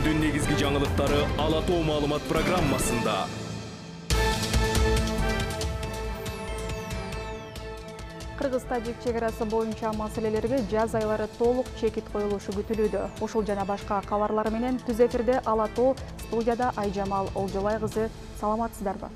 Күндүн негизги жаңылыктары Ала Тоо маалымат программасында. Кыргыз-Тажик чегарасы боюнча маселелерге жаз айлары толук чекит коюлушу күтүлүүдө. Ушул жана башка кабарлар менен түз эфирде Ала Тоо, студияда Айжамал Олжобай кызы. Саламатсыздарбы?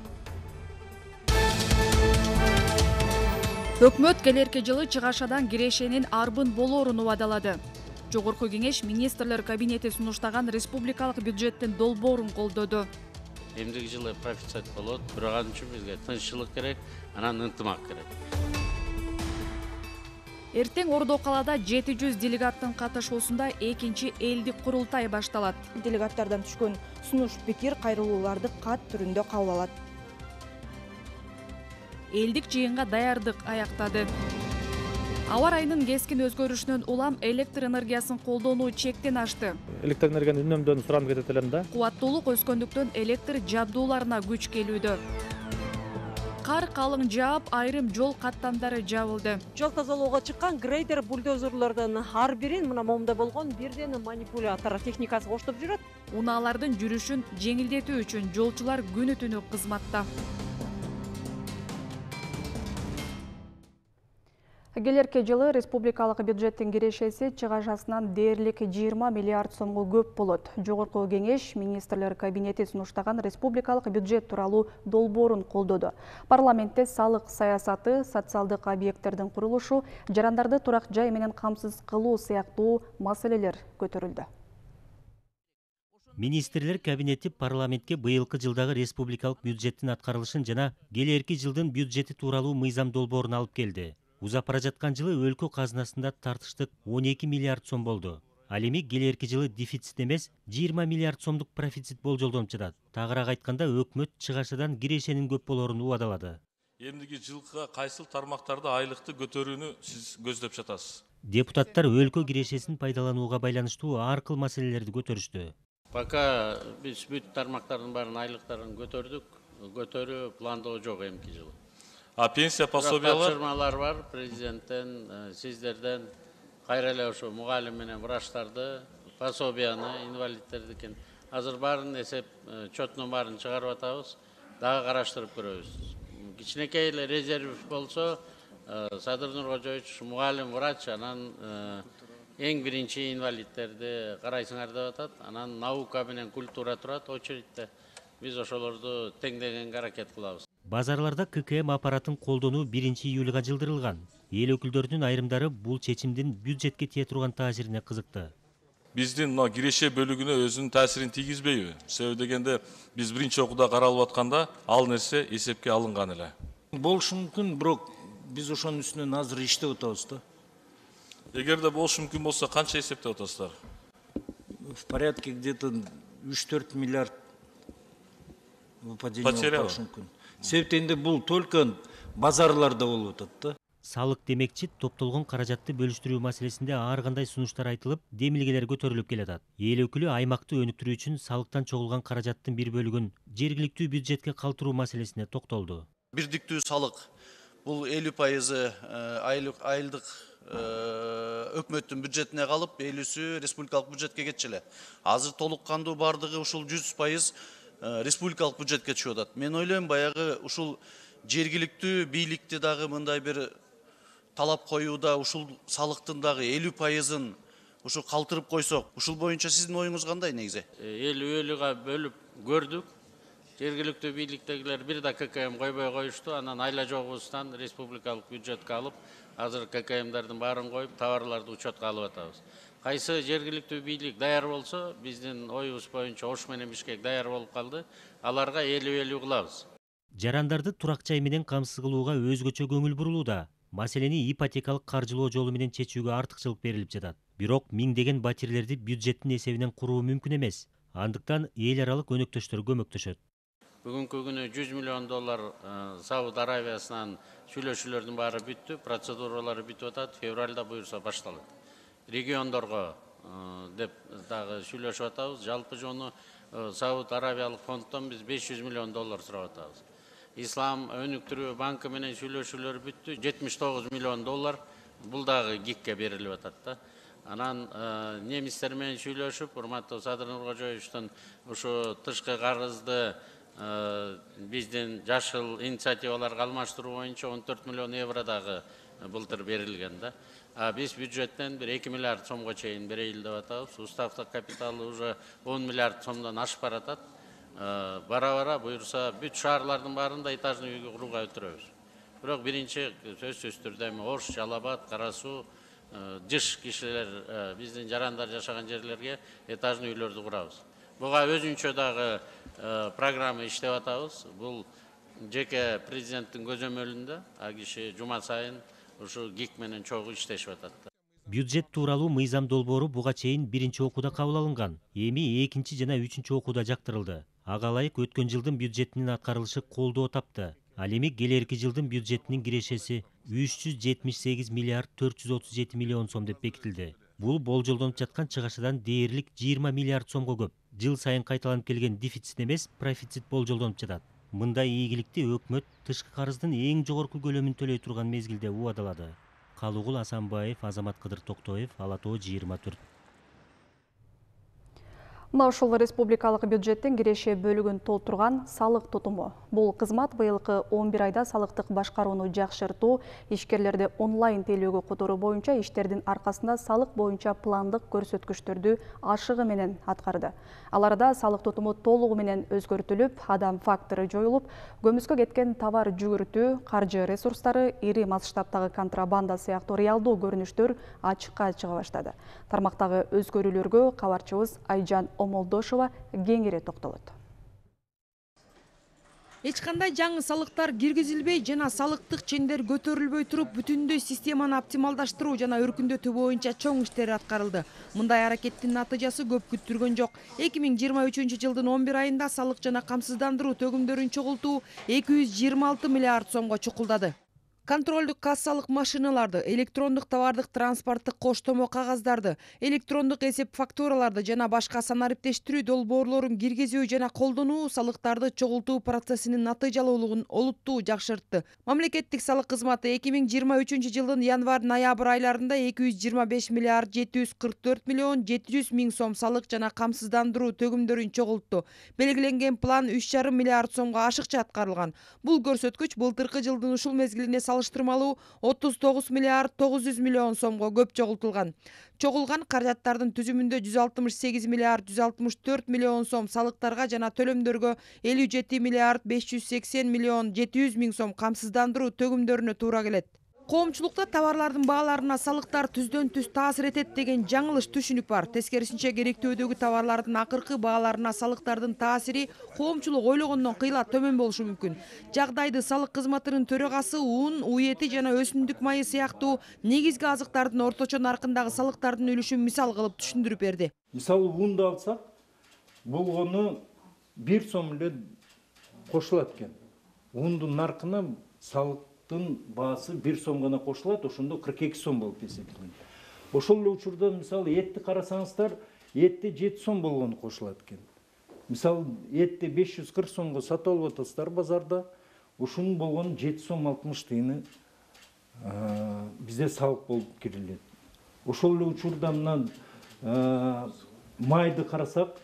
Өкмөт келерки жылы чыгашадан кирешенин арбын болоорун убадалады. Жогорку кеңеш министрлер кабинети сунуштаган республикалык бюджеттин долбоорун колдоду. Эмдиги жылы профицит болот, бирок ал үчүн бизге тынччылык керек, анан ынтымак керек. Эртең Ордо калаада 700 делегаттын катышуусунда экинчи элдик курултай башталат. Делегаттардан түшкөн сунуш пикир кайрылууларды кат түрүндө кабыл алат. Элдик жыйынга даярдык аяктады. Аба ырайынын кескин өзгөрүшүнөн улам электр энергиясын колдонуу чектен ашты. Электр энергияны үнөмдөн суранып кетет элем да. Кубаттуулук өскөндүктөн электр жабдууларына күч келүүдө. Кар калың жаап, айрым жол каттамдары жабылды. Жол тазалоого чыккан грейдер бульдозерлордун ар бирин мына момунда болгон бирден манипулятор техникасы коштоп жүрөт. Унаалардын жүрүшүн жеңилдетүү үчүн жолчулар күнү түнү кызматта. Келерки жылы республикалык бюджеттин кирешеси чыгашасынан дээрлик 20 миллиард сомго көп болот. Жогорку кеңеш министрлер кабинети сунуштаган республикалык бюджет тууралуу долбоорун колдоду. Парламентте салык саясаты, социалдык объекттердин курулушу, жарандарды турак жай менен камсыз кылуу сыяктуу маселелер көтөрүлдү. Министрлер кабинети парламентке быйылкы жылдагы республикалык бюджеттин аткарылышын жана келерки жылдын бюджети тууралуу мыйзам долбоорун алып келди. Узап бара жаткан жылы өлкө казынасында тартыштык 12 миллиард сом болду. Ал эми келерки жылы дефицит эмес, 20 миллиард сомдук профицит болжолдонуп жатат. Тагыраак айтканда, өкмөт чыгашадан кирешенин көп болоорун убадалады. Эмдиги жылга кайсыл тармактарда айлыкты көтөрүүнү сиз көздөп жатасыз? Депутаттар өлкө кирешесин пайдаланууга байланыштуу ар кыл маселелерди көтөрүштү. Пока биз бүт тармактардын баарын айлыктарын көтөрдүк, көтөрүү пландоо жок эмки жылы. А пенсия пособиялар? Тапшырмалар бар президенттен, сиздерден, кайра эле ошо мугалим менен врачтарды, пособияны, инвалидтердикин азыр баарын эсеп чотунун баарын чыгарып атабыз, дагы караштырып көрөбүз. Кичинекей эле резерв болсо, Садыр Нуркожоевич мугалим врач, анан эң биринчи инвалидтерди карайсыңар деп атат, анан наука менен культура турат очередьте. Биз ошолорду теңдегенге аракет кылабыз. Базарларда ККМ аппаратын колдонуу 1-июлга жылдырылган. Эл өкүлдөрүнүн айрымдары бул чечимдин бюджетке тие турган таасирине кызыкты. Биздин мына киреше бөлүгүнө өзүнүн таасирин тийгизбейби? Себеби дегенде биз биринчи окууда каралып атканда ал нерсе эсепке алынган эле. Болушу мүмкүн, бирок биз ошонун үстүнөн азыр иштеп атабыз да. Эгерде болушу мүмкүн болсо канча эсептеп атасыздар? В порядке где-то 3-4 миллиард выпадение болушу мүмкүн. Себептенде бул только базарларда болуп атат да. Салык демекчи, топтолгон каражатты бөлүштүрүү маселесинде ар кандай сунуштар айтылып, демилгелер көтөрүлүп келатат. Эл өкүлү аймакты өнүктүрүү үчүн салыктан чогулган каражаттын бир бөлүгүн жергиликтүү бюджетке калтыруу маселесине токтолду. Бирдиктүү салык бул 50% айылдык өкмөттүн бюджетине калып, 50-сү республикалык бюджетке кетчү. Азыр толук кандуу бардыгы ушул 100% республикалык бюджетке түшүп атат. Мен ойлойм, баягы ушул жергиликтүү бийликти дагы мындай бир талап коюуда ушул салыктын дагы 50%-ын ушу калтырып койсок, ушул боюнча сиздин оюңуз кандай негизи? Эл өөлүгө бөлүп көрдүк. Жергиликтүү бийликтегилер бир да ККМ койбой коюшту, анан айла жогубуздан республикалык бюджетке алып, азыр ККМдардын баарын коюп, товарларды учетко алып атабыз. Кайсы жергиликтүү бийлик даяр болсо, биздин оюбуз боюнча Ош менен Бишкек даяр болуп калды, аларга элүү кылабыз. Жарандарды турак жай менен камсыз кылууга өзгөчө көңүл бурулууда. Маселени ипотекалык каржылоо жолу менен чечүүгө артыкчылык берилип жатат. Бирок миңдеген батирлерди бюджеттин эсебинен куруу мүмкүн эмес. Андыктан эл аралык өнөктөштөр көмөктөшөт. Бүгүнкү күнү $100 миллион Сауд Аравиясынан сүйлөшүүлөрдүн баары бүттү, процедуралары бүтүп атат, февралда буюрса башталат. Региондорго деп дагы сүйлөшүп атабыз. Жалпы жону Сауд Аравиялык фонддон биз $500 миллион сурап атабыз. Ислам өнүктүрүү банкы менен сүйлөшүүлөр бүттү, $79 миллион. Бул дагы ГИКке берилип атат да. Анан немистер менен сүйлөшүп, урматтуу Садыр Нуркожоевичтун ушу тышкы карызды биздин жашыл инициативаларга алмаштыруу боюнча 14 миллион евро дагы былтыр берилген да. Биз бюджеттен 2 миллиард сомго чейин берейли деп атабыз. Уставдык капиталы уже 10 миллиард сомдон ашып баратат. Бара-бара буюрса бүт шаарлардын баарында этажный үйгө курууга өтүрөбүз. Бирок биринчи сөзсүз түрдө Ош, Жалал Абад, Кара Суу, жыш кишилер биздин жарандар жашаган жерлерге этажный үйлөрдү курабыз. Буга өзүнчө дагы программа иштеп атабыз. Бул жеке президенттин көзөмөлүндө, киши жума сайын ушу ГИК менен чогуу иштешип атат. Бюджет тууралуу мыйзам долбоору буга чейин биринчи окууда кабыл алынган. Эми экинчи жана үчүнчү окууда жактырылды. Ага ылайык өткөн жылдын бюджетинин аткарылышы колдоо тапты. Ал эми келерки жылдын бюджетинин кирешеси 378 миллиард 437 миллион сом деп бекитилди. Бул болжолдонуп жаткан чыгашадан дээрлик 20 миллиард сомго көп. Жыл сайын кайталанып келген дефицит эмес, профицит болжолдонуп жатат. Мындай ийгиликти өкмөт тышкы карыздын эң жогорку көлөмүн төлөй турган мезгилде убадалады. Калугул Асанбаев, Азамат Кыдыр Токтоев, Ала Тоо 24. Мына ушул республикалык бюджеттин киреше бөлүгүн толтурган салык тутуму. Бул кызмат быйылкы 11 айда салыктык башкарууну жакшыртуу, ишкерлерди онлайн тейлөөгө которуу боюнча иштердин аркасында салык боюнча пландык көрсөткүчтөрдү ашыгы менен аткарды. Аларда салык тутуму толугу менен өзгөртүлүп, адам фактору жоюлуп, көмүскө кеткен товар жүгүртүү, каржы ресурстары, ири масштабтагы контрабанда сыяктуу реалдуу көрүнүштөр ачыкка чыга баштады. Тармактагы өзгөрүүлөргө кабарчыбыз Айжан Омолдошова кеңири токтолот. Эч кандай жаңы салыктар киргизилбей жана салыктык чендер көтөрүлбөй туруп, бүтүндөй системаны оптималдаштыруу жана өркүндөтүү боюнча чоң иштер аткарылды. Мындай аракеттин натыйжасы көп күттүргөн жок. 2023 жылдын 11 айында салык жана камсыздандыруу төгүмдөрүн чогултуу 226 миллиард сомго чукулдады. Контролдук кассалык машиналарды, электрондук товардык транспорттук коштомо кагаздарды, электрондук эсеп фактураларды жана башка санариптештирүү долбоорлорун киргизүү жана колдонуу салыктарды чогултуу процессинин натыйжалуулугун олуттуу жакшыртты. Мамлекеттик салык кызматы 2023 жылдын январь-ноябрь айларында 225 миллиард 744 миллион 700 миң сом салык жана камсыздандыруу төгүмдөрүн чогултту. Белгиленген план 3,5 миллиард сомго ашыкча аткарылган. Бул көрсөткүч былтыркы жылдын ушул мезгилине салыштырмалуу 39 миллиард 900 миллион сомго көп чогултулган. Чогулган каражаттардын түзүмүндө 168 миллиард 164 миллион сом салыктарга жана төлөмдөргө 57 миллиард 580 миллион 700 миң сом камсыздандыруу төгүмдөрүнө туура келет. Коомчулукта товарлардын бааларына салыктар түздөн түз таасир этет деген жаңылыш түшүнүк бар. Тескерисинче керектөөдөгү товарлардын акыркы бааларына салыктардын таасири коомчулук ойлогондон кыйла төмөн болушу мүмкүн. Жагдайды салык кызматынын төрагасы ун, уу эти жана өсүмдүк майы сыяктуу негизги азыктардын орточо наркындагы салыктардын үлүшүн мисал кылып түшүндүрүп берди. Мисалы унду алсак, болгону 1 сом эле кошулат экен. Ундун наркына салык баасы 1 сом гана кошулат, ошондо 42 сом болуп эсептелет. Ошол эле учурда мисалы этти карасаңыздар, этти 7 сом болгону кошулат экен. Мисалы этти 540 сомго сатып алып атасыздар базарда, ушунун болгону 7 сом 60 тыйыны бизде салык болуп кирилет. Ошол эле учурда мына майды карасак,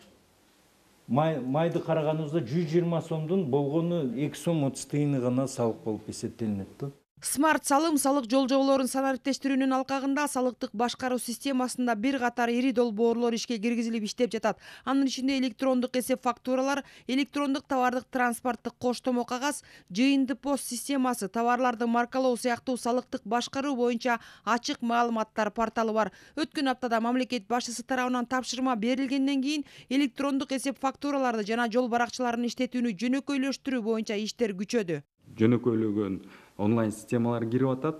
майды караганыбызда 120 сомдун болгону 2 сом 30 тыйыны гана салык болуп эсептелинет. Смарт салым салык жолжоболорун санариптештирүүнүн алкагында салыктык башкаруу системасында бир катар ири долбоорлор ишке киргизилип иштеп жатат. Анын ичинде электрондук эсеп фактуралар, электрондук товардык транспорттук коштомо кагаз, жыйынды пост системасы, товарларды маркалоо сыяктуу салыктык башкаруу боюнча ачык маалыматтар порталы бар. Өткөн аптада мамлекет башчысы тарабынан тапшырма берилгенден кийин электрондук эсеп фактураларды жана жол баракчаларын иштетүүнү жөнөкөйлөштүрүү боюнча иштер күчөдү. Жөнөкөйлөгөн онлайн системалар кирип атат.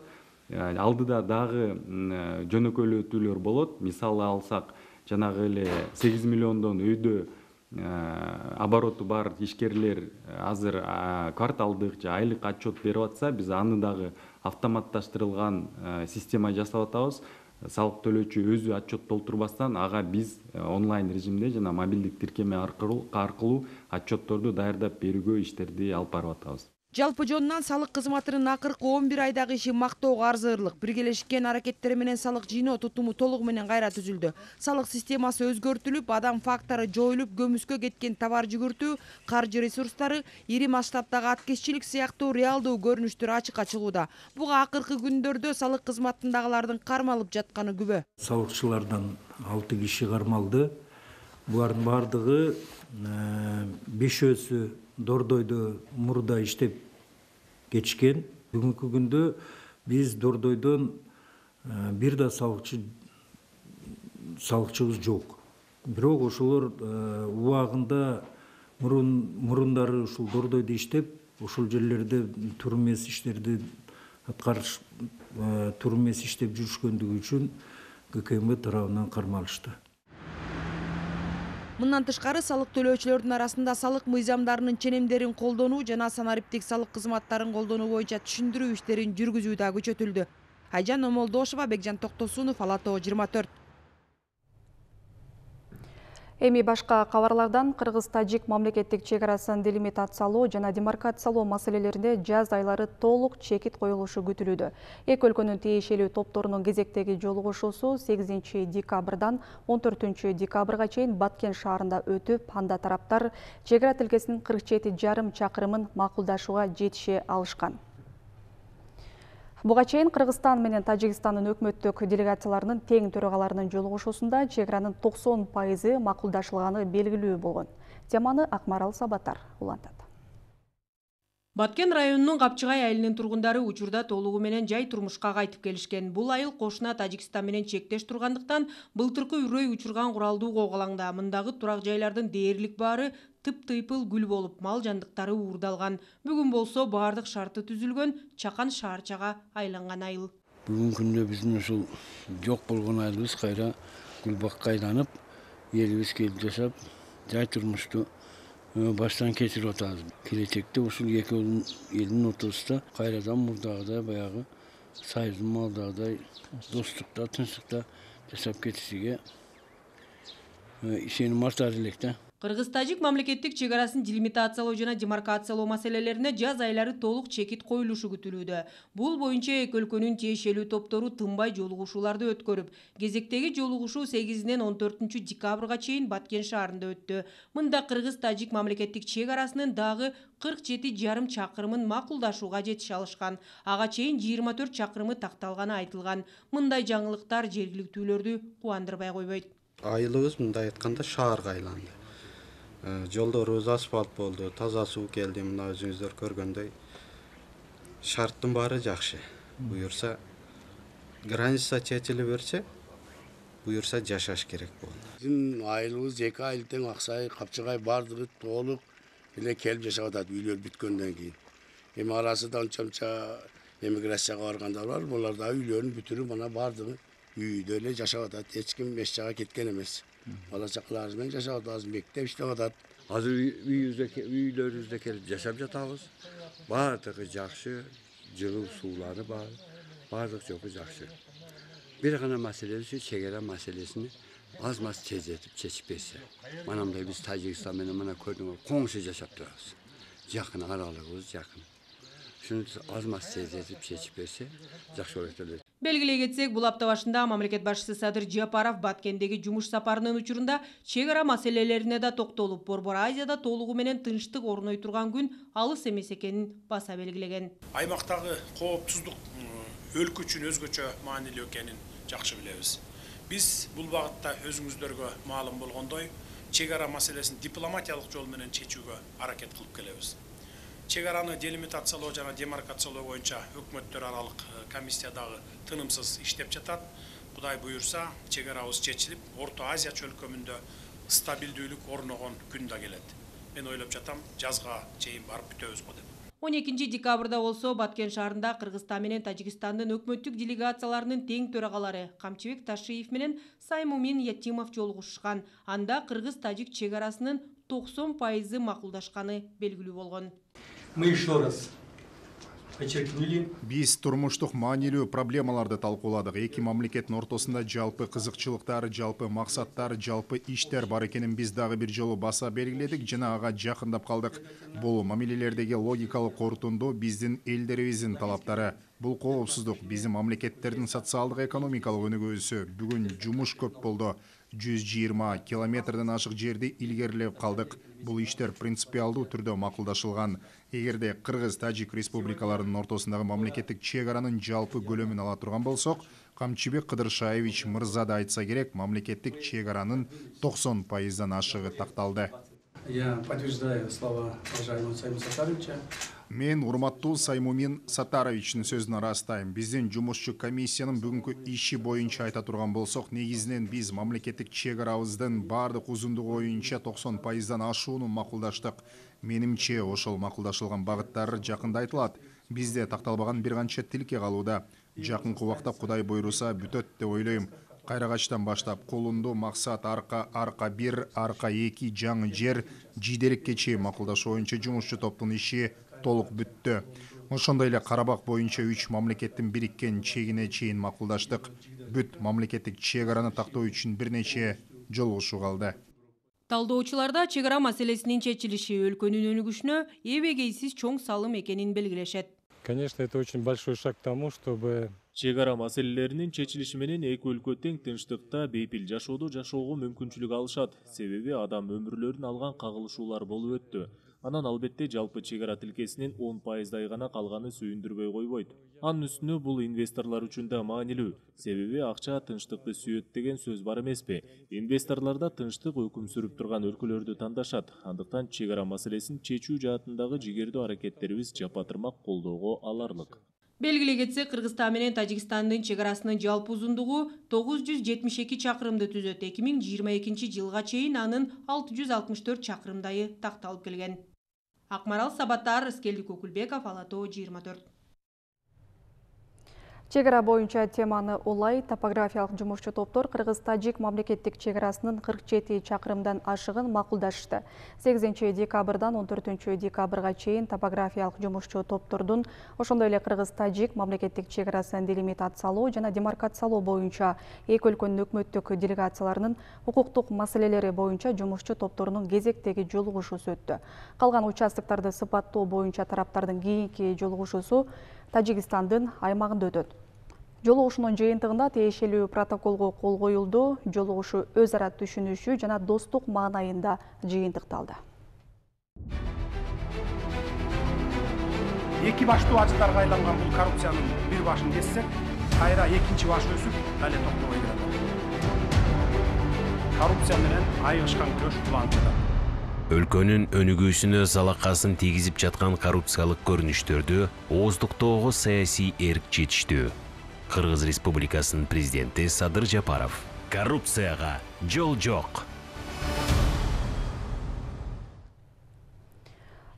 Алдыда дагы жөнөкөйлөтүүлөр болот. Мисалы алсак, жанагы эле 8 миллиондон өйдө обороту бар ишкерлер азыр кварталдык же айлык отчет берип атса, биз аны дагы автоматташтырылган система жасап атабыз. Салык төлөөчү өзү отчет толтурбастан, ага биз онлайн режимде жана мобилдик тиркеме аркылуу отчетторду даярдап берүүгө иштерди алып барып атабыз. Жалпы жонунан салык кызматынын акыркы 11 айдагы иши мактоого арзырлык. Биргелешкен аракеттери менен салык жыйноо тутуму толугу менен кайра түзүлдү. Салык системасы өзгөртүлүп, адам фактору жоюлуп, көмүскө кеткен товар жүгүртүү, каржы ресурстары, ири масштабтагы аткезчилик сыяктуу реалдуу көрүнүштөр ачыкка чыгууда. Буга акыркы күндөрдө салык кызматындагылардын кармалып жатканы күбө. Салыкчылардан 6 киши кармалды. Булардын бардыгы 5-өсү Дордойдо мурда иштеп geçken. Бүгүнкү күндө биз Дордойдон бир да салыкчыбыз жок. Бирок ошолор убагында мурундары ушул Дордойдо иштеп, ошол жерлерде тур эмес иштерди аткарыш, тур эмес иштеп жүрүшкөндүгү үчүн ГКМ тарабынан кармалышты. Мындан тышкары салык төлөөчүлөрдүн арасында салык мыйзамдарынын ченемдерин колдонуу жана санариптик салык кызматтарын колдонуу боюнча түшүндүрүү иштерин жүргүзүү да күчөтүлдү. Айжан Омолдошова, Бекжан Токтосунов, Ала-Тоо 24. Эми башка кабарлардан Кыргыз-Тажик мамлекеттик чек арасын делимитациялоо жана демаркациялоо маселелеринде жаз айлары толук чекит коюлушу күтүлүүдө. Эки өлкөнүн тиешелүү топторунун кезектеги жолугушуусу 8 декабрдан 14 декабрга чейин Баткен шаарында өтүп, анда тараптар чек ара тилкесинин 47,5 чакырымын макулдашууга жетише алышкан. Буга чейин Кыргызстан менен Тажикстандын өкмөттүк делегацияларынын тең төрагаларынын жолугушуусунда чек аранын 90% макулдашылганы белгилүү болгон. Теманы Акмарал Сабатар улантат. Баткен районунун Капчыгай айылынын тургундары учурда толугу менен жай турмушка кайтып келишкен. Бул айыл кошуна Тажикстан менен чектеш тургандыктан былтыркы үрөй учурган куралдуу коголаңда. Мындагы турак жайлардын дээрлик баары тып-тыйпыл гүл болуп, мал жандыктары уурдалган. Бүгүн болсо баардык шарты түзүлгөн чакан шаарчага айланган айыл. Бүгүнкү күндө биздин ушул жок болгон айылыбыз кайра гүлбакка айланып, элибиз келип жашап, жай турмушту баштан кечирип атабыз. Келечекте ушул эки элдин ортосунда кайрадан мурдагыдай баягы союздун малдагыдай достукта, тынчтыкта жашап кетишиге ишеним артар элек да. Кыргыз-Тажик мамлекеттик чек арасын делимитациялоо жана демаркациялоо маселелерине жаз айлары толук чекит коюлушу күтүлүүдө. Бул боюнча эки өлкөнүн тиешелүү топтору тынбай жолугушууларды өткөрүп, кезектеги жолугушуу 8-ден 14 декабрга чейин Баткен шаарында өттү. Мында Кыргыз-Тажик мамлекеттик чек арасынын дагы 47,5 чакырымын макулдашууга жетише алышкан. Ага чейин 24 чакырымы такталганы айтылган. Мындай жаңылыктар жергиликтүүлөрдү кубандырбай койбойт. Айылыбыз мындай айтканда шаарга айланды. Жолдорубуз асфальт болду, таза суу келди, мына өзүңүздөр көргөндөй. Шарттын баары жакшы. Буюрса граница чечиле берсе, буюрса жашаш керек болду. Биздин айылыбыз эки айыл тең Аксай, Капчыгай бардыгы толук эле келип жашап атат үйлөр бүткөндөн кийин. Эми арасында онча эмиграцияга баргандар бар, булар да үйлөрүн бүтүрүп, мына бардыгы үйдө эле жашап атат. Эч ким эч жака кеткен эмес. Бала чакаларыбыз менен жашап атабыз, мектеп иштеп атат. Азыр үйлөрүбүздө келип жашап жатабыз. Баардыгы жакшы, жылуу суулары бар, баардык жоку жакшы. Бир гана маселе ушу чек ара маселесин аз-маз тездетип чечип берсе. Манамдай биз Тажикстан менен мына көрдүңөр, коңшу жашап турабыз. Жакын аралыгыбыз жакын. Шуну аз-маз тездетип чечип берсе, жакшы болот эле. Белгилей кетсек, бул апта башында мамлекет башчысы Садыр Жапаров Баткендеги жумуш сапарынын учурунда чек ара маселелерине да токтолуп, Борбор Азияда толугу менен тынчтык орной турган күн алыс эмес экенин баса белгилеген. Аймактагы коопсуздук өлкө үчүн өзгөчө маанилүү экенин жакшы билебиз. Биз бул багытта өзүңүздөргө маалым болгондой, чек ара маселесин дипломатиялык жол менен чечүүгө аракет кылып келебиз. Чек араны делимитациялоо жана демаркациялоо боюнча өкмөттөр аралык комиссиядагы тынымсыз иштеп жатат. Кудай буюрса, чек арабыз чечилип, Орто Азия чөлкөмүндө стабилдүүлүк орногон күн да келет. Мен ойлоп жатам, жазга чейин барып бүтөбүз го деп. 12 декабрда болсо Баткен шаарында Кыргызстан менен Тажикстандын өкмөттүк делегацияларынын тең төрагалары Камчыбек Ташиев менен Саймумин Ятимов жолугушкан. Анда Кыргыз-Тажик чек арасынын 90% макулдашканы белгилүү болгон. Мы еще раз Биз турмуштук маанилүү проблемаларды талкууладык. Эки мамлекеттин ортосунда жалпы кызыкчылыктар, жалпы максаттар, жалпы иштер бар экенин биз дагы бир жолу баса белгиледик жана ага жакындап калдык. Бул мамилелердеги логикалык корутунду биздин элдерибиздин талаптары. Бул коопсуздук биздин мамлекеттердин социалдык экономикалык өнүгүүсү. Бүгүн жумуш көп болду. 120 километрден ашык жерди илгерилеп калдык. Бул иштер принципиалдуу түрдө макулдашылган. Эгерде Кыргыз-Тажик республикаларынын ортосундагы мамлекеттик чек аранын жалпы көлөмүн ала турган болсок, Камчыбек Кыдыршаевич мырза да айтса керек, мамлекеттик чек аранын 90% ашыгы такталды. Я подтверждаю слова уважаемого Саймуна Сатаровича. Мен урматтуу Саймумин Сатаровичтин сөзүн ырастайм. Биздин жумушчу комиссиянын бүгүнкү иши боюнча айта турган болсок, негизинен биз мамлекеттик чек арабыздын баардык узундугу боюнча 90%дан ашууну макулдаштык. Менимче ошол макулдашылган багыттар жакында айтылат. Бизде такталбаган бир канча тилке калууда. Жакынкы убакта Кудай буйруса бүтөт деп ойлойм. Кайрагачтан баштап Кулунду, Максат, Арка 1, Арка 2 жаңы жер, Жиделикке чейин макулдашуу боюнча жумушчу топтун иши толук бүттү. Ошондой эле Карабак боюнча 3 мамлекеттин бириккен чегине чейин макулдаштык. Бүт мамлекеттик чек араны тактоо үчүн бир нече жолугушуу калды. Талдоочуларда чек ара маселесинин чечилиши өлкөнүн өнүгүшүнө эбегейсиз чоң салым экенин белгилешет. Конечно, это очень большой шаг к тому, чтобы чек ара маселелеринин чечилиши менен эки өлкө тең тынчтыкта бейпил жашоодо жашоого мүмкүнчүлүк алышат. Себеби адам өмүрлөрүн алган кагылышуулар болуп өттү. Анан албетте жалпы чек ара тилкесинин 10%дай гана калганы сүйүндүрбөй койбойт. Анын үстүнө бул инвесторлор үчүн да маанилүү. Себеби акча тынчтыкты сүйөт деген сөз бар эмеспи? Инвесторлор да тынчтык өкүм сүрүп турган өлкөлөрдү тандашат. Андыктан чек ара маселесин чечүү жаатындагы жигердүү аракеттерибиз жапатырмак колдоого аларлык. Белгилей кетсек, Кыргызстан менен Тажикстандын чек арасынын жалпы узундугу 972 чакырымды түзөт. 2022 жылга чейин анын 664 чакырымдайы такталып келген. Акмарал Сабаттар, Скелдик Окулбеков, Алатоо 24. Чек ара боюнча теманы улай топографиялык жумушчу топтор Кыргыз-Тажик мамлекеттик чек арасынын 47 чакырымдан ашыгын макулдашты. 8 декабрдан 14 декабрга чейин топографиялык жумушчу топтордун, ошондой эле Кыргыз-Тажик мамлекеттик чек арасын делимитациялоо жана демаркациялоо боюнча эки өлкөнүн өкмөттүк делегацияларынын укуктук маселелери боюнча жумушчу топторунун кезектеги жолугушуусу өттү. Калган участоктарды сыпаттоо боюнча тараптардын кийинки жолугушуусу Тажикстандын аймагында өтөт. Жолугушуунун жыйынтыгында тиешелүү протоколго кол коюлду. Жолугушуу өз ара түшүнүшүү жана достук маанайында жыйынтыкталды. Эки баштуу ажыктарга айланган бул коррупциянын бир башын кессек, кайра экинчи баш өсүп, дале токтобой келет. Коррупция менен айыгышкан күрөш улантылды. Өлкөнүн өнүгүүсүнө залакасын тийгизип жаткан коррупциялык көрүнүштөрдү ооздуктоого саясий эрк жетиштүү. Кыргыз Республикасынын президенти Садыр Жапаров: коррупцияга жол жок.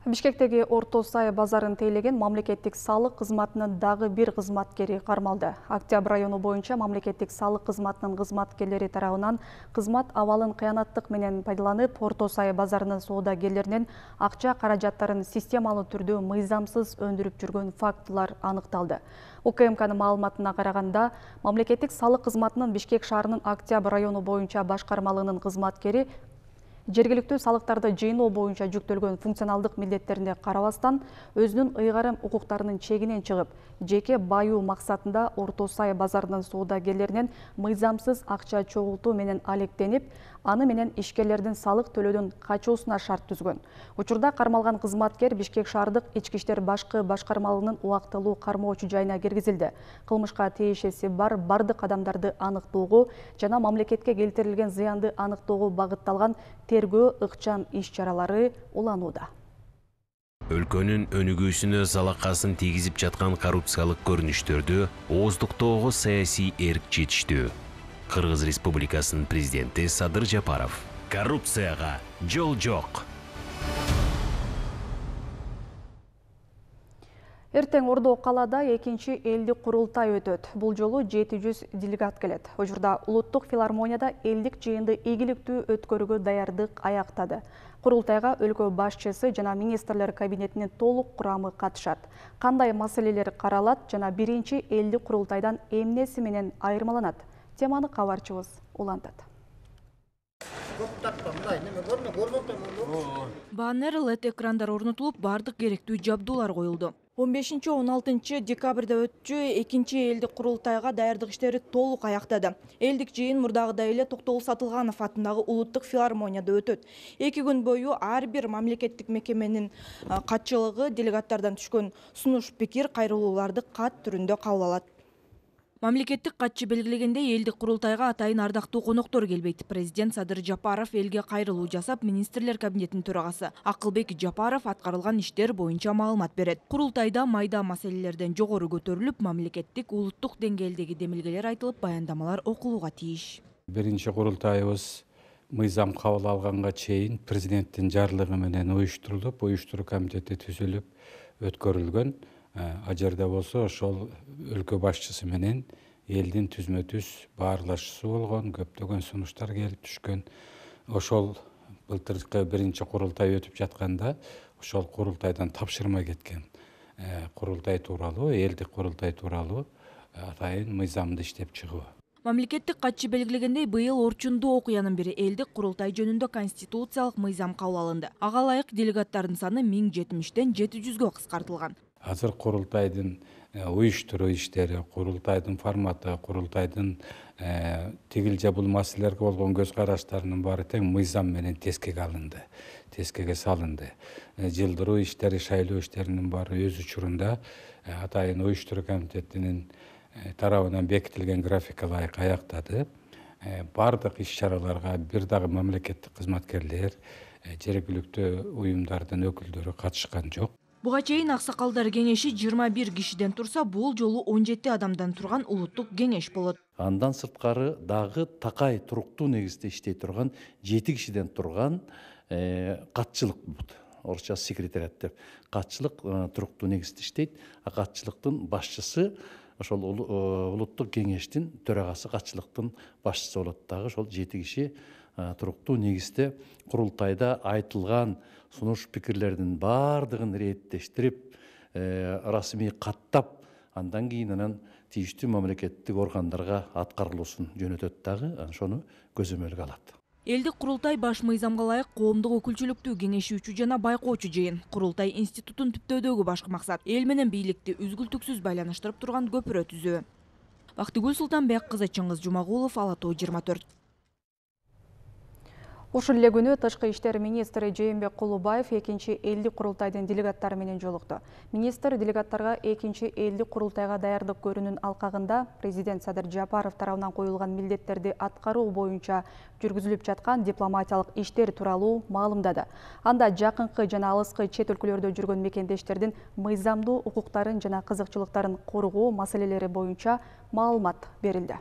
Бишкектеги Орто Сай базарын тейлеген мамлекеттик салык кызматынын дагы бир кызматкери кармалды. Октябрь району боюнча мамлекеттик салык кызматынын кызматкерлери тарабынан кызмат абалын кыянаттык менен пайдаланып, Орто Сай базарынын соодагерлеринен акча каражаттарын системалуу түрдө мыйзамсыз өндүрүп жүргөн фактылар аныкталды. УКМКнын маалыматына караганда, мамлекеттик салык кызматынын Бишкек шаарынын Октябрь району боюнча башкармалыгынын кызматкери жергиликтүү салыктарды жыйноо боюнча жүктөлгөн функционалдык милдеттерине карабастан, өзүнүн ыйгарым укуктарынын чегинен чыгып, жеке баюу максатында Орто Сай базарынын соодагерлеринен мыйзамсыз акча чогултуу менен алектенип, аны менен ишкерлердин салык төлөөдөн качуусуна шарт түзгөн. Учурда кармалган кызматкер Бишкек шаардык ички иштер башкы башкармалыгынын убактылуу кармоочу жайына киргизилди. Кылмышка тиешеси бар бардык адамдарды аныктоого жана мамлекетке келтирилген зыянды аныктоого багытталган тергөө ыкчам иш-чаралары уланууда. Өлкөнүн өнүгүүсүнө залакасын тийгизип жаткан коррупциялык көрүнүштөрдү ооздуктоого саясий эрк жетиштүү. Кыргыз Республикасынын президенти Садыр Жапаров: коррупцияга жол жок. Эртең Ордо калада экинчи элдик курултай өтөт. Бул жолу 700 делегат келет. Ожурда улуттук филармонияда элдик жыйынды ийгиликтүү өткөрүүгө даярдык аяктады. Курултайга өлкө башчысы жана министрлер кабинетинин толук курамы катышат. Кандай маселелер каралат жана биринчи элдик курултайдан эмнеси менен айырмаланат? Теманы кабарчыбыз улантат. Баннер, LED экрандар орнотулуп, бардык керектүү жабдуулар коюлду. 15-16 декабрда өтчү экинчи элдик курултайга даярдык иштери толук аяктады. Элдик жыйын мурдагыдай эле Токтогул Сатылганов атындагы улуттук филармонияда өтөт. 2 күн бою ар бир мамлекеттик мекеменин катчылыгы делегаттардан түшкөн сунуш пикир, кайрылууларды кат түрүндө кабыл алат. Мамлекеттик катчы белгилегендей, элдик курултайга атайын ардактуу коноктор келбейт. Президент Садыр Жапаров элге кайрылуу жасап, министрлер кабинетинин төрагасы Акылбек Жапаров аткарылган иштер боюнча маалымат берет. Курултайда майда маселелерден жогору көтөрүлүп, мамлекеттик, улуттук деңгээлдеги демилгелер айтылып, баяндамалар окулууга тийиш. Биринчи курултайыбыз мыйзам кабыл алганга чейин президенттин жарлыгы менен уюштурулуп, уюштуруу комитети түзүлүп өткөрүлгөн. А жерде болсо ошол өлкө башчысы менен элдин түзмө-түз баарлашуусу болгон, көптөгөн сунуштар келип түшкөн. Ошол былтыркы биринчи курултай өтүп жатканда ошол курултайдан тапшырма кеткен курултай тууралуу, элдик курултай тууралуу атайын мыйзамды иштеп чыгуу. Мамлекеттик катчы белгилегендей, быйыл орчундуу окуянын бири элдик курултай жөнүндө конституциялык мыйзам кабыл алынды. Ага ылайык делегаттардын саны 1070ден 700гө кыскартылган. Азыр курултайдын уюштуруу иштери, курултайдын форматы, курултайдын тигил же бул маселелерге болгон көз караштарынын баары тең мыйзам менен тескеге алынды, тескеге салынды. Жылдыруу иштери, шайлоо иштеринин баары өз учурунда атайын уюштуруу комитетинин тарабынан бекитилген графикке ылайык аяктады. Бардык иш-чараларга бир дагы мамлекеттик кызматкерлер, жергиликтүү уюмдардын өкүлдөрү катышкан жок. Буга чейин аксакалдар кеңеши 21 кишиден турса, бул жолу 17 адамдан турган улуттук кеңеш болот. Андан сырткары дагы такай туруктуу негизде иштей турган 7 кишиден турган катчылык болот. Орусча секретариат деп. Катчылык туруктуу негизде иштейт. А катчылыктын башчысы ошол улуттук кеңештин төрагасы, катчылыктын башчысы болот. Дагы ошол 7 киши туруктуу негизде курултайда айтылган сунуш пикирлердин баардыгын реттештирип, расмий каттап, андан кийин анан тийиштүү мамлекеттик органдарга аткарылуусун жөнөтөт дагы, ошону көзөмөлгө алат. Элдик курултай баш мыйзамга ылайык коомдук өкүлчүлүктү кеңешүүчү жана байкоочу жыйын. Курултай институтун түптөөдөгү башкы максат эл менен бийликти үзгүлтүксүз байланыштырып турган көпүрө түзүү. Бактыгүл Султанбек кызы, Чыңгыз Жумагулов, Ала Тоо 24. Ушул эле күнү Тышкы иштер министри Жээнбек Кулубаев экинчи элдик курултайдын делегаттары менен жолукту. Министр делегаттарга экинчи элдик курултайга даярдык көрүүнүн алкагында президент Садыр Жапаров тарабынан коюлган милдеттерди аткаруу боюнча жүргүзүлүп жаткан дипломатиялык иштер тууралуу маалымдады. Анда жакынкы жана алыскы чет өлкөлөрдө жүргөн мекендештердин мыйзамдуу укуктарын жана кызыкчылыктарын коргоо маселелери боюнча маалымат берилди.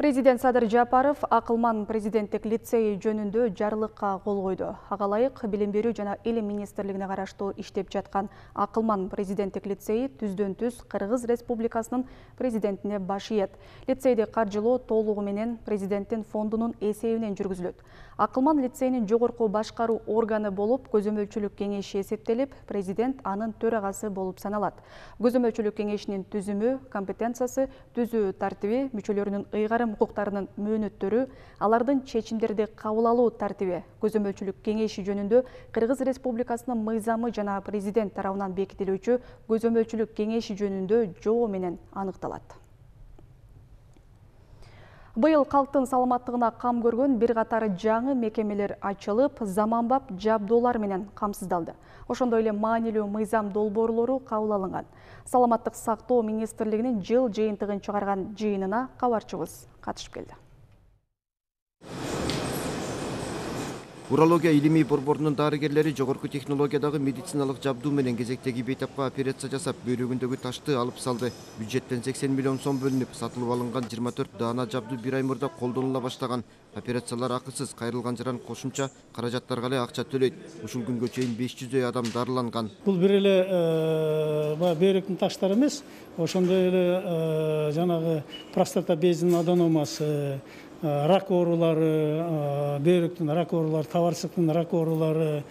Президент Садыр Жапаров Акылман президенттик лицейи жөнүндө жарлыкка кол койду. Ага ылайык Билим берүү жана Илим министрлигине караштуу иштеп жаткан Акылман президенттик лицейи түздөн-түз Кыргыз Республикасынын президентине баш ийет. Лицейди каржылоо толугу менен президенттин фондунун эсебинен жүргүзүлөт. Акылман лицейинин жогорку башкаруу органы болуп, көзөмөлчүлүк кеңеши эсептелип, президент анын төрагасы болуп саналат. Көзөмөлчүлүк кеңешинин түзүмү, компетенциясы, түзүү тартиби, мүчөлөрүнүн ыйгарым укуктарынын мөөнөттөрү, алардын чечимдерди кабыл алуу тартиби, көзөмөлчүлүк кеңеши жөнүндө Кыргыз Республикасынын мыйзамы жана президент тарабынан бекитилүүчү көзөмөлчүлүк кеңеши жөнүндө жобо менен аныкталат. Быйыл калктын саламаттыгына кам көргөн бир катар жаңы мекемелер ачылып, заманбап жабдуулар менен камсыздалды. Ошондой эле маанилүү мыйзам долбоорлору кабыл алынган. Саламаттык сактоо министрлигинин жыл жыйынтыгын чыгарган жыйынына кабарчыбыз катышып келди. Урология илимий борборунун дарыгерлери жогорку технологиядагы медициналык жабдуу менен кезектеги бейтапка операция жасап, бөйрөгүндөгү ташты алып салды. Бюджеттен 80 миллион сом бөлүнүп, сатылып алынган 24 даана жабдуу бир ай мурда колдонула баштаган. Операциялар акысыз, кайрылган жаран кошумча каражаттарга эле акча төлөйт. Ушул күнгө чейин 500 адам дарыланган. Бул бир эле бөйрөктүн таштары эмес, ошондой эле жанагы простата безинин аденомасы, рак оорулары, бөйрөктүн рак оорулары, табарсыктын рак оорулары,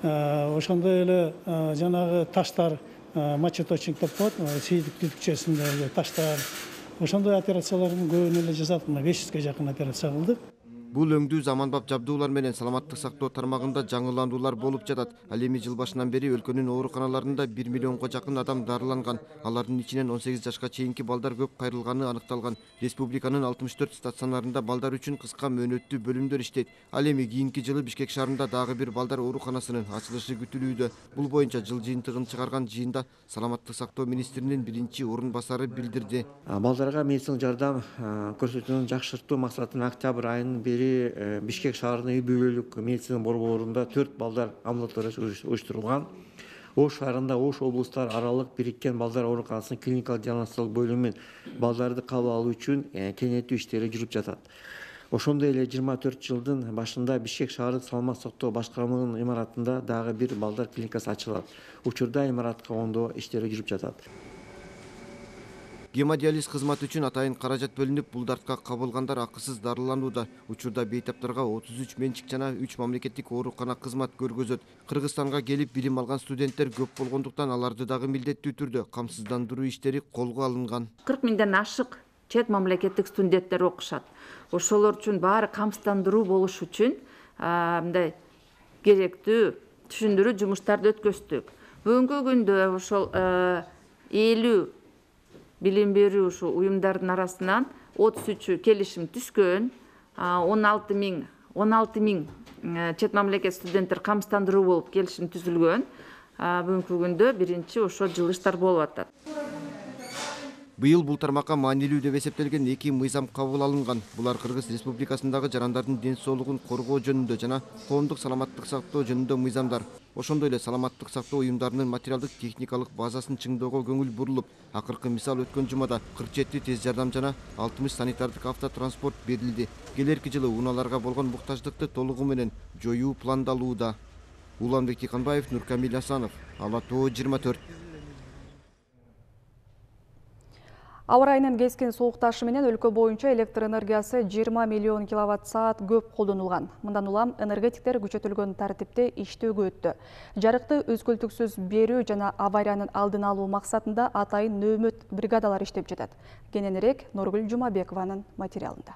ошондой эле жанагы таштар, мочеточник деп коет, сейдик түтүкчөсүндөгү таштар. Ошондой операциялардын көбүн эле жасадык, 500ге жакын операция кылдык. Бул өңдүү заманбап жабдуулар менен саламаттык сактоо тармагында жаңылануулар болуп жатат. Ал эми жыл башынан бери өлкөнүн ооруканаларында 1 миллионго жакын адам дарыланган. Алардын ичинен 18 жашка чейинки балдар көп кайрылганы аныкталган. Республиканын 64 стационарында балдар үчүн кыска мөөнөттүү бөлүмдөр иштейт. Ал эми кийинки жылы Бишкек шаарында дагы бир балдар ооруканасынын ачылышы күтүлүүдө. Бул боюнча жыл жыйынтыгын чыгарган жыйында саламаттык сактоо министринин биринчи орун басары билдирди. Балдарга медициналык жардам көрсөтүүнү жакшыртуу максатында октябрь айынын бери Бишкек шаарынын үй бүлөлүк медицина борборунда 4 балдар амбулаториясы уюштурулган. Ош шаарында Ош облустар аралык бириккен балдар ооруканасынын клиникалык диагностикалык бөлүмүнүн балдарды кабыл алуу үчүн кеңейтүү иштери жүрүп жатат. Ошондой эле 24 жылдын башында Бишкек шаардык саламаттык сактоо башкармалыгынын имаратында дагы бир балдар клиникасы ачылат. Учурда имаратка оңдоо иштери жүрүп жатат. Гемодиализ кызматы үчүн атайын каражат бөлүнүп, бул дартка кабылгандар акысыз дарыланууда. Учурда бейтаптарга 33 менчик жана 3 мамлекеттик оорукана кызмат көргөзөт. Кыргызстанга келип билим алган студенттер көп болгондуктан аларды дагы милдеттүү түрдө камсыздандыруу иштери колго алынган. 40 миңден ашык чет мамлекеттик студенттер окушат. Ошолор үчүн баары камсыздандыруу болуш үчүн мындай керектүү түшүндүрүү жумуштарды өткөздүк. Бүгүнкү күндө ошол 50 билим берүү ушу уюмдардын арасынан 33 келишим түскөн, 16 миң чет мамлекет студенттер камсыздандыруу болуп келишим түзүлгөн. Бүгүнкү күндө биринчи ошо жылыштар болуп атат. Быйыл бул тармакка маанилүү деп эсептелген 2 мыйзам кабыл алынган. Булар Кыргыз Республикасындагы жарандардын ден соолугун коргоо жөнүндө жана коомдук саламаттык сактоо жөнүндө мыйзамдар. Ошондой эле саламаттык сактоо уюмдарынын материалдык техникалык базасын чыңдоого көңүл бурулуп, акыркы мисал өткөн жумада 47 тез жардам жана 60 санитардык автотранспорт берилди. Келерки жылы унааларга болгон муктаждыкты толугу менен жоюу пландалууда. Уланбек Тиканбаев, Нуркамил Асанов, Ала Тоо 24. Аба ырайынын кескин суукташы менен өлкө боюнча электр энергиясы 20 миллион киловатт-саат көп колдонулган. Мындан улам энергетиктер күчөтүлгөн тартипте иштөөгө өттү. Жарыкты өзгөлтүксүз берүү жана авариянын алдын алуу максатында атайын нөөмөт бригадалар иштеп жатат. Кененирээк Нургүл Жумабекованын материалында.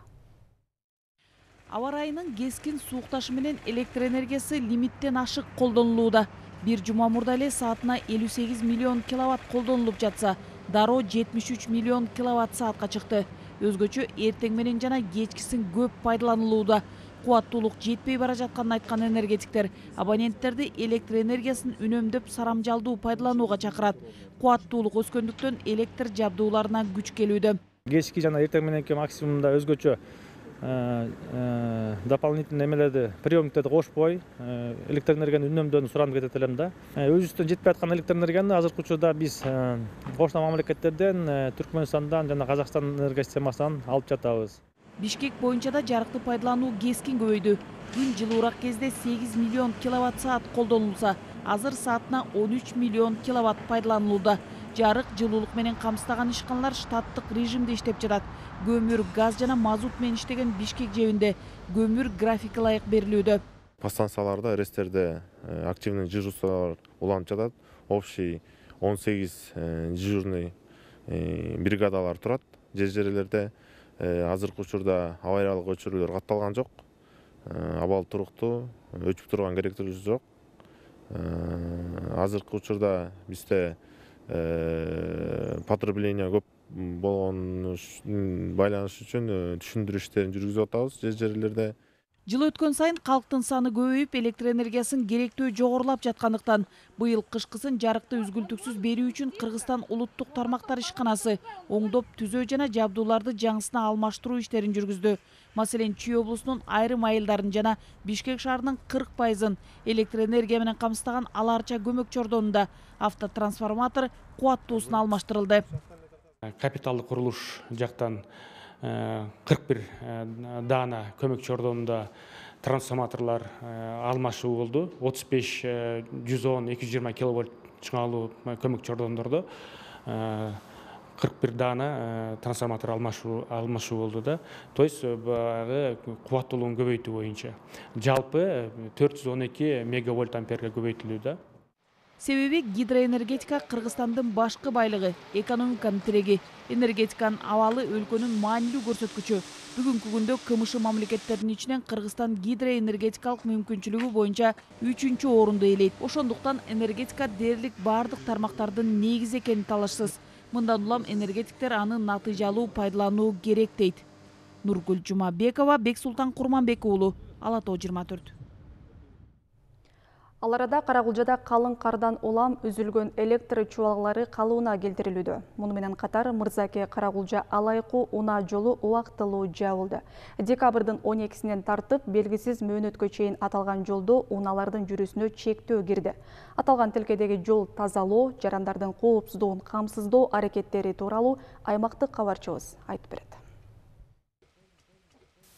Аба ырайынын кескин суукташы менен электр энергиясы лимиттен ашык колдонулууда. Бир жума мурда эле саатына 58 миллион киловатт колдонулуп жатса, дароо 73 миллион киловатт-саатка чыкты. Өзгөчө эртең менен жана кечкисин көп пайдаланылууда. Кубаттуулук жетпей бара жатканын айткан энергетиктер абоненттерди электр энергиясын үнөмдөп сарамжалдуу пайдаланууга чакырат. Кубаттуулук өскөндүктөн электр жабдууларына күч келүүдө. Кечки жана эртең мененки максимумда өзгөчө дополнительный эмелерди, приемниктерди кошпой, электр энергияны үнөмдөөнү суранып кетет элем да. Өзүбүздөн жетпей аткан электр энергияны азыркы учурда биз кошуна мамлекеттерден, Түркмөнстандан жана Казакстан энергия системасынан алып жатабыз. Бишкек боюнча да жарыкты пайдалануу кескин көбөйдү. Күн жылуураак кезде 8 миллион киловатт-саат колдонулса, азыр саатына 13 миллион киловатт пайдаланылууда. Жарык, жылуулук менен камсыздаган ишканалар штаттык режимде иштеп жатат. Көмүр, газ жана мазут менен иштеген Бишкек жебинде көмүр графики ылайык берилүүдө. Подстанцияларда, РЭСтерде активный дежурстволор уланып жатат. Общий 18 дежурный бригадалар турат. Жер-жерлерде азыркы учурда авариялык өчүрүүлөр катталган жок. Абал туруктуу, өчүп турган керектүүлүгү жок. Азыркы учурда бизде потребление көп болгон байланыш үчүн түшүндүрүү иштерин жүргүзүп атабыз жер-жерлерде. Жыл өткөн сайын калктын саны көбөйүп, электр энергиясын керектөө жогорулап жаткандыктан быйыл кышкысын жарыкты үзгүлтүксүз берүү үчүн Кыргызстан улуттук тармактар ишканасы оңдоп түзөө жана жабдууларды жаңысына алмаштыруу иштерин жүргүздү. Маселен, Чүй облусунун айрым айылдарын жана Бишкек шаарынын 40% электр энергия менен камсыздаган Аларча көмөк чордонунда автотрансформатор кубаттуусуна алмаштырылды. Капиталдык курулуш жактан 41 даана көмөк чордонунда трансформаторлар алмашуу болду. 35 110 220 киловольт чыңалуу көмөк чордондордо 41 даана трансформатор алмашуу болду да. То есть баягы кубаттуулугун көбөйтүү боюнча жалпы 412 мегавольт амперге көбөйтүлдү да. Себеби гидроэнергетика Кыргызстандын башкы байлыгы, экономиканын тиреги. Энергетиканын абалы өлкөнүн маанилүү көрсөткүчү. Бүгүнкү күндө КМШ мамлекеттеринин ичинен Кыргызстан гидроэнергетикалык мүмкүнчүлүгү боюнча 3-чү орунду ээлейт. Ошондуктан энергетика дээрлик бардык тармактардын негизи экени талашсыз. Мындан улам энергетиктер аны натыйжалуу пайдалануу керек дейт. Нургүл Жумабекова, Бексултан Курманбек уулу, Ала Тоо 24. Ал арада Карагулжада калың кардан улам үзүлгөн электр чубалгылары калыбына келтирилүүдө. Муну менен катар Мырзаке Карагулжа Алайкуу унаа жолу убактылуу жабылды. Декабрдын 12-синен тартып белгисиз мөөнөткө чейин аталган жолдо унаалардын жүрүүсүнө чектөө кирди. Аталган тилкедеги жол тазалоо, жарандардын коопсуздугун камсыздоо аракеттери тууралуу аймактык кабарчыбыз айтып берет.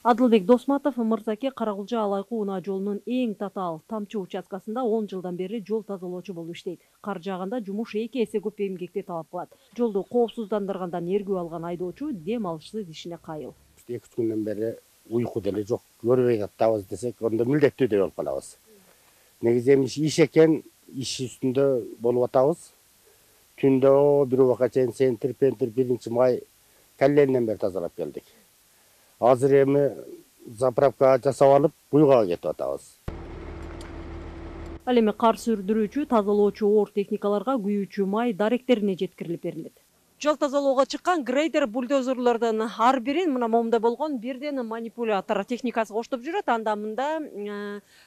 Адылбек Досматов Мырзаке Карагулжа Алайкуу унаа жолунун эң татаал тамчы участкасында 10 жылдан бери жол тазалоочу болуп иштейт. Кар жааганда жумуш 2 эсе көп эмгекти талап кылат. Жолду коопсуздандыргандан эргүү алган айдоочу дем алышсыз ишине кайыл. 2 күндөн бери уйку деле жок, көрбөй каттабыз десек, онда милдеттүү деп алып калабыз. Негизи эми иш экен, иш үстүндө болуп атабыз. Түндө бир убакка чейин Центр 1 май калленден бери тазалап келдик. Азыр эми заправка жасап алып, буйга кетип атабыз. Ал эми кар сүрдүрүүчү, тазалоочу оор техникаларга күйүүчү май даректерине жеткирилип берилет. Жол тазалоого чыккан грейдер бульдозерлордун ар бирин мына момундай болгон бирден манипулятор техникасы коштоп жүрөт. Анда мында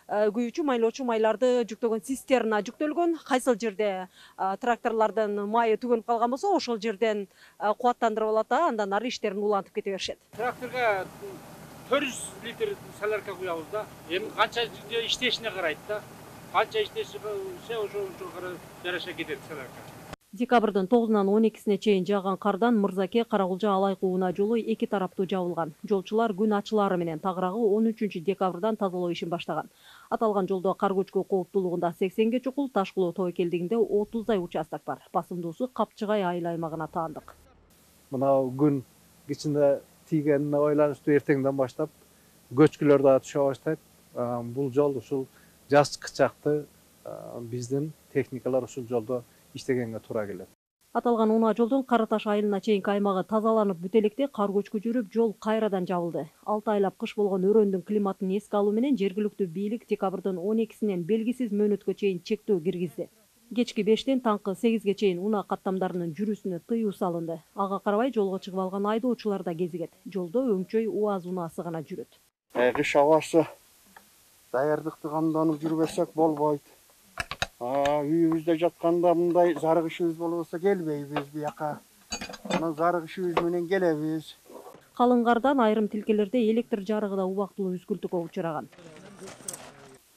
күйүүчү, майлоочу майларды жүктөгөн цистерна жүктөлгөн. Кайсыл жерде тракторлордун майы түгөнүп калган болсо, ошол жерден кубаттандырып алат да, андан ары иштерин улантып кете беришет. Тракторга 400 литр солярка куябыз да. Эми канча иштешине карайт да. Канча иштеши ошого жараша кетет солярка. Декабрдын 9-нан 12-сине чейин жааган кардан Мырзаке Карагулжа Алайкуу унаа жолу 2 тараптуу жабылган. Жолчулар күн ачылары менен тагыраагы 13 декабрдан тазалоо ишин баштаган. Аталган жолдо кар көчкү кооптуулугунда 80ге чукул, Ташкулуу тоо келдигинде 30дай участок бар. Басымдуусу Капчыгай айыл аймагына таандык. Мына күн ичинде тийгенине байланыштуу эртеңден баштап көчкүлөр да түшө баштайт. Бул жол ушул жаз кычакты биздин техникалар ушул жолдо иштегенге туура келет. Аталган унаа жолдун Караташ айылына чейинки аймагы тазаланып бүт электе кар көчкү жүрүп, жол кайрадан жабылды. 6 айлап кыш болгон өрөөндүн климатын эске алуу менен жергиликтүү бийлик декабрдын 12-синен белгисиз мөөнөткө чейин чектөө киргизди. Кечки 5тен таңкы 8ге чейин унаа каттамдарынын жүрүүсүнө тыюу салынды. Ага карабай жолго чыгып алган айдоочулар да кезигет. Жолдо өңчөй УАЗ унаасы гана жүрөт. Кыш абасы даярдыкты камданып жүрбөсөк болбойт. Үйүбүздө жатканда мындай зарык ишибиз болбосо келбейбиз бияка. Мына зарык ишибиз менен келебиз. Калың кардан айрым тилкелерде электр жарыгы да убактылуу үзгүлтүккө учураган.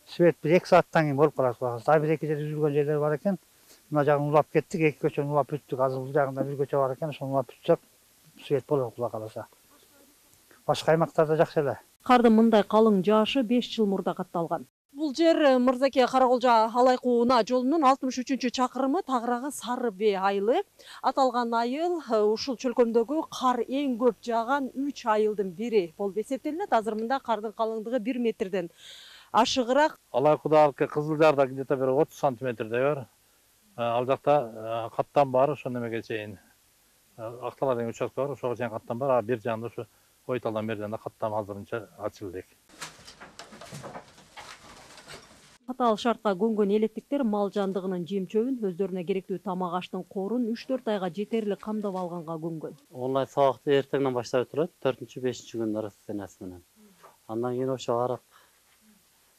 Свет 1-2 сааттан кийин болуп калат. Саат 1-2 жерде үзүлгөн жерлер бар экен. Мына жагын улап кеттик, 2 көчөнү улап бүттүк. Азыр бул жагында бир көчө бар экен, ошону улап бүтсөк, свет болот Кула каласа. Башка аймактарда жакшы эле. Кардын мындай калың жаашы 5 жыл мурда катталган. Бул жер Мырзаке Карагулжа Алайкуу унаа жолунун 63-чакырымы, тагыраагы Сары Бee айылы. Аталган айыл ушул чөлкөмдөгү кар эң көп жааган 3 айылдын бири болуп эсептелинет. Азыр мында кардын калыңдыгы 1 метрден ашыгыраак. Алайкуудагы Кызылжарда где-то бир 30 сантиметрдей бар. Ал жакта каттам бар, ошо немеге чейин. Актала деген участок бар, ошого чейин каттам бар. А бир жагында ушу Ойталдан берден да каттам азырынча ачылды. Катаал шартка көнгөн электиктер мал жандыгынын жем-чөбүн, өздөрүнө керектүү тамак аштын корун 3-4 айга жетерлик камдап алганга көнгөн. Онлайн сабакты эртеңден баштап турат, 4-5 күн арасы сенасы менен. Андан кийин ошо арак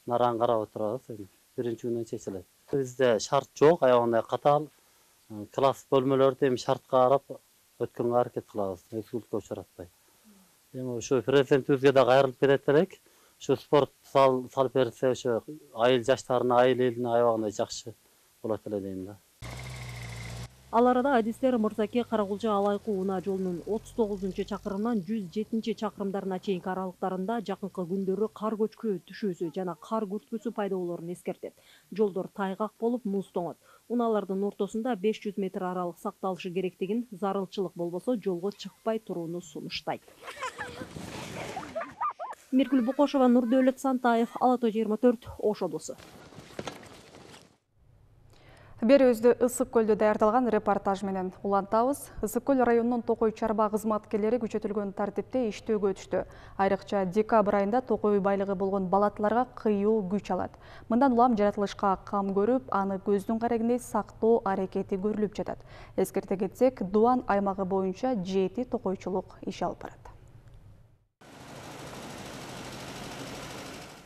нараң карап отурабыз. Биринчи күнү чечилет. Бизде шарт жок, аябагандай катаал. Класс бөлмөлөрдү эми шартка карап өткөнгө аракет кылабыз, эксурсияга учуратпай. Эми ошо президентибизге да кайрылып кетет элек. Ошо спорт салып берсе, ошо айыл жаштарына, айыл элине аябагандай жакшы болот эле дейм да. Ал арада адистер Мырзаке Каракулча Алайкы унаа жолунун 39-чакырымынан 107-чакырымдарына чейинки аралыктарында жакынкы күндөрү кар көчкү түшүүсү жана кар күрткүсү пайда болоорун эскертет. Жолдор тайгак болуп, муз тоңот. Унаалардын ортосунда 500 метр аралык сакталышы керектигин, зарылчылык болбосо жолго чыкпай турууну сунуштайт. Миргүл Букошева, Нурдөөлөт Сантаев, Ала Тоо 24, Ош облусу. Бери өзү Ысык көлдө даярдалган репортаж менен улантабыз. Ысык көл районунун Токой чарба кызматкерлери күчөтүлгөн тартипте иштөөгө түштү. Айрыкча декабрь айында токой байлыгы болгон балатларга кыюу күч алат. Мындан улам жаратылышка кам көрүп, аны көздүн карегиндей сактоо аракети көрүлүп жатат. Эскерте кетсек, Дуан аймагы боюнча 7 токойчулук иш алып барат.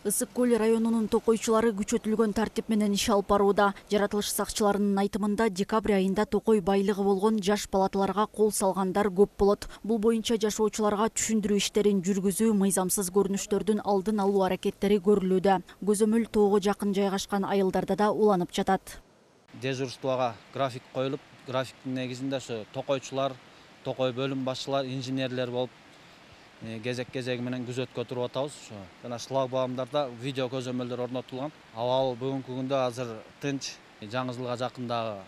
Ысык көл районунун токойчулары күчөтүлгөн тартип менен иш алып барууда. Жаратылыш сакчыларынын айтымында декабрь айында токой байлыгы болгон жаш балатларга кол салгандар көп болот. Бул боюнча жашоочуларга түшүндүрүү иштерин жүргүзүү, мыйзамсыз көрүнүштөрдүн алдын алуу аракеттери көрүлүүдө. Көзөмөл тоого жакын жайгашкан айылдарда да уланып жатат. Дежурствого график коюлуп, графиктин негизинде ошо токойчулар, токой бөлүм башчылар, инженерлер болуп кезек-кезеги менен күзөткө туруп атабыз. Жана шлагбаумдарда видео көзөмөлдөр орнотулган. Абал бүгүнкү күндө азыр тынч, жаңы жылга жакындагы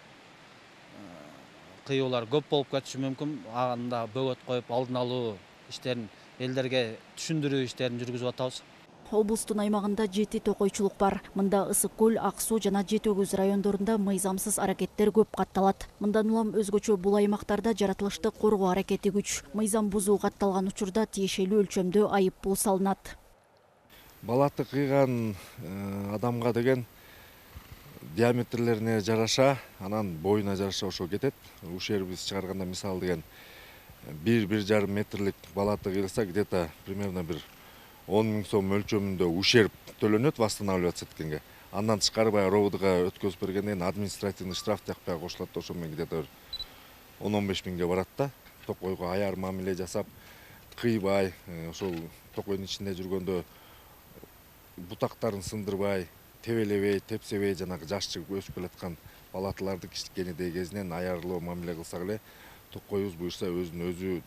кыюулар көп болуп кетиши мүмкүн. Анда бөгөт коюп алдын алуу иштерин, элдерге түшүндүрүү иштерин жүргүзүп атабыз. Облустун аймагында 7 токойчулук бар. Мында Ысык көл, Ак суу жана Жети өгүз райондорунда мыйзамсыз аракеттер көп катталат. Мындан улам өзгөчө бул аймактарда жаратылышты коргоо аракети күч. Мыйзам бузуу катталган учурда тиешелүү өлчөмдө айып пул салынат. Балаты кыйган адамга деген диаметрлерине жараша, анан боюна жараша ошо кетет. Ушер биз чыгарганда мисалы деген 1-1,5 метрлик балаты кыйылса, где-то примерно бир 10 000 сом өлчөмүндө ушерп төлөнөт восстанавливаться эткенге. Андан тышкары ровдга өткөзүп бергенден административный штраф тиякпай кошулат, ошо менен где-то 10-15 миңге барат да. Токойго аяр мамиле жасап, кыйбай, ошол токойдун ичинде жүргөндө бутактарын сындырбай, тебелебей, тепсебей, жанагы жашчы өсүп келаткан балатыларды кичинекей кезинен аярлоо мамиле кылсак эле, токойубуз буюрса өзүн өзү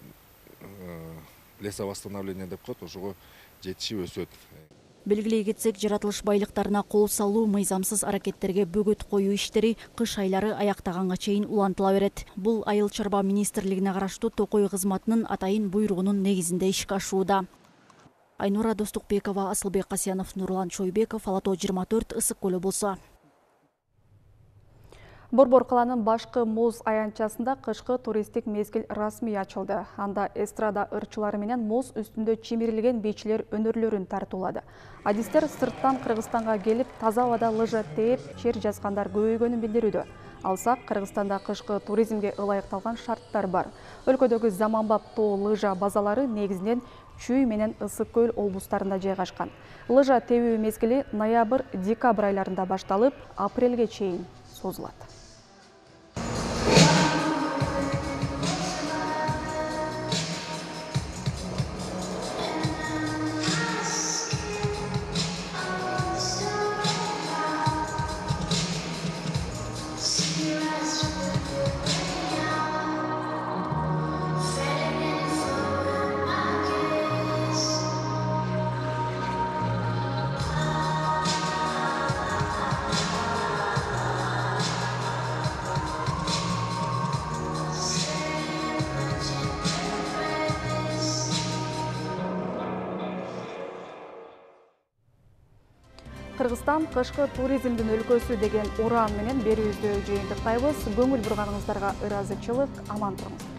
лесовосстановление деп коет, ошого жетишип өсөт. Белгилей кетсек, жаратылыш байлыктарына кол салуу, мыйзамсыз аракеттерге бөгөт коюу иштери кыш айлары аяктаганга чейин улантыла берет. Бул Айыл чарба министрлигине караштуу Токой кызматынын атайын буйругунун негизинде ишке ашууда. Айнура Достукбекова, Асылбек Касьянов, Нурлан Чойбеков, Ала Тоо 24, Ысык көлү болсо. Борбор каланын башкы муз аянтчасында кышкы туристтик мезгил расмий ачылды. Анда эстрада ырчылары менен муз үстүндө чимирилген бийчилер өнөрлөрүн тартуулады. Адистер сырттан Кыргызстанга келип, таза абада лыжа тээп, шер жазгандар көбөйгөнүн билдирүүдө. Алсак, Кыргызстанда кышкы туризмге ылайыкталган шарттар бар. Өлкөдөгү заманбап тоо лыжа базалары негизинен Чүй менен Ысык көл облустарында жайгашкан. Лыжа тебүү мезгили ноябрь-декабрь айларында башталып, апрелге чейин созулат. Кыргызстан кышкы туризмдин өлкөсү деген уран менен берүүбүздү жыйынтыктайбыз. Көңүл бурганыңыздарга ыраазычылык, аман туруңуздар.